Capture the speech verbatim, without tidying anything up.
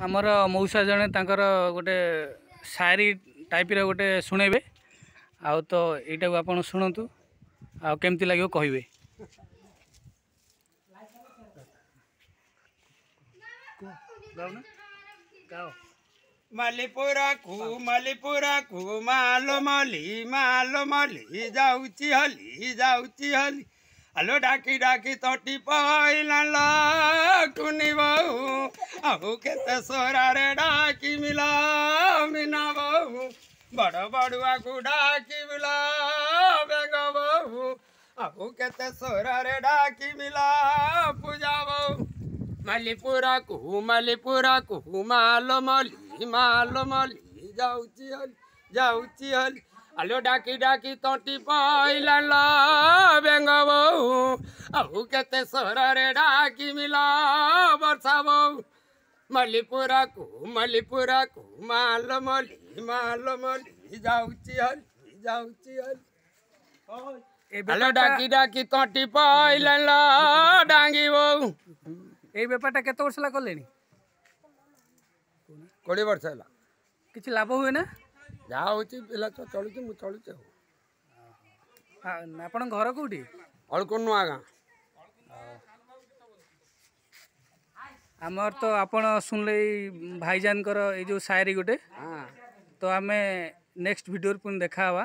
ଆମର ମଉସା ଜଣେ ତାଙ୍କର ଗୋଟେ ସାୟରୀ ଟାଇପ୍ର ଗୋଟେ ଶୁଣେଇବେ, ଆଉ ତ ଏଇଟାକୁ ଆପଣ ଶୁଣନ୍ତୁ ଆଉ କେମିତି ଲାଗିବ କହିବେ। ମଲିପୁରାକୁ ମଲିପୁରାକୁ ମାଲ ମଲି ମାଲ ମଲି ଯାଉଛି ହଲି ଯାଉଛି ହଲି, ଆଲୋ ଡାକି ଡାକି ତଟି ପଇଲା କୁନି ବୋହୁ, ଆଉ କେତେ ସରାରେ ଡାକି ମିଲା ମିନା ବୋହୁ, ବଡ଼ ବଡ଼ୁଆକୁ ଡାକି ମିଲା ବେଙ୍ଗ ବୋହୁ, ଆଉ କେତେ ସରାରେ ଡାକି ମିଲା ପୂଜା ବୋହୁ। ମଲିପୁରାକୁ ମଲିପୁରାକୁ ମାଲ ମଲି ମାଲ ମଲି ଯାଉଛି ହଲି ଯାଉଛି ହଲି, ଆଲୋ ଡାକି ଡାକି ତଣ୍ଟି ପଇଲା ବେଙ୍ଗ ବୋହୁ, ଆଉ କେତେ ସରରେ ଡାକି ମିଲା ବର୍ଷା ବୋହୁ। ମଲିପୁରାକୁ ମଲିପୁରାକୁ ମାଲ ମଲି ମାଲ ମଲି ଯାଉଛି ହଲି ଯାଉଛି ହଲି, ଆଲୋ ଡାକି ଡାକି ତଣ୍ଟି ପଇଲା ଡାଙ୍ଗି ବୋହୁ। ଏଇ ବେପାରଟା କେତେ ବର୍ଷ ହେଲା କଲେଣି? କୋଡ଼ିଏ ବର୍ଷ ହେଲା। କିଛି ଲାଭ ହୁଏ ନା? ଯାହା ହଉଛି ପିଲା ତ ଚଳୁଛି, ମୁଁ ଚଳୁଛି। ଆଉ ଆପଣଙ୍କ ଘର କୋଉଠି? ଅଳ୍ପ ନୂଆ ଗାଁ। ଆମର ତ ଆପଣ ଶୁଣିଲେ ଏଇ ଭାଇଜାନଙ୍କର ଏଇ ଯେଉଁ ସାୟରୀ ଗୋଟେ, ତ ଆମେ ନେକ୍ସଟ ଭିଡ଼ିଓରେ ପୁଣି ଦେଖା ହେବା।